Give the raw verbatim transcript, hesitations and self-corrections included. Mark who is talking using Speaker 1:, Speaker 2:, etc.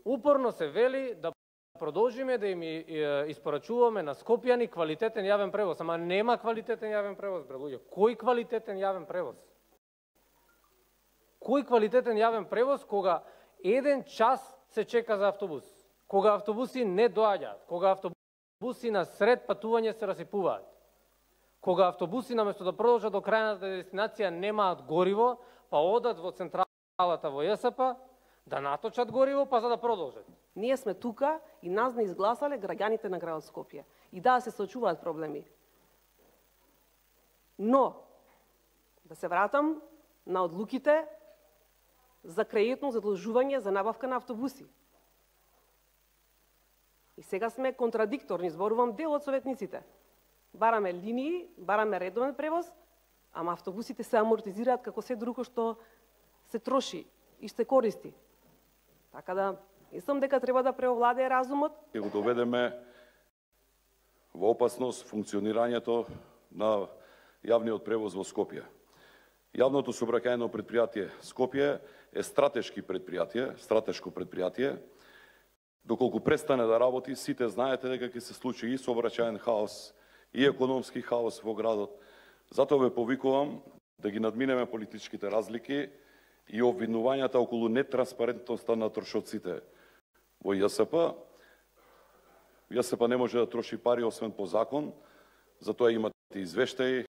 Speaker 1: упорно се вели да продолжиме да им испорачуваме на скопјани квалитетен јавен превоз, ама нема квалитетен јавен превоз, бре луѓе. Кој квалитетен јавен превоз? Кој квалитетен јавен превоз кога еден час се чека за автобус, кога автобуси не доаѓаат, кога автобуси на сред патување се расипуваат, кога автобуси наместо да продолжат до крајната дестинација немаат гориво, па одат во централата во ЈСП да наточат гориво, па за да продолжат.
Speaker 2: Ние сме тука и нас не изгласале граѓаните на градот Скопје. И да, се соочуваат проблеми. Но, да се вратам на одлуките за кредитно задолжување за набавка на автобуси. И сега сме контрадикторни, зборувам дел од советниците. Бараме линии, бараме редовен превоз, ама автобусите се амортизираат како се друго што се троши и се користи. Така да, мислам дека треба да преовладее разумот.
Speaker 3: Ќе го доведеме во опасност функционирањето на јавниот превоз во Скопје. Јавното сообраќајно предпријатие Скопје е стратешки предпријатие, стратешко предпријатие. Доколку престане да работи, сите знаете дека ќе се случи и сообраќајен хаос, и економски хаос во градот. Затоа ве повикувам да ги надминеме политичките разлики и обвинувањата околу нетранспарентноста на трошоците во ЈСП. ЈСП не може да троши пари освен по закон, затоа имате извештаи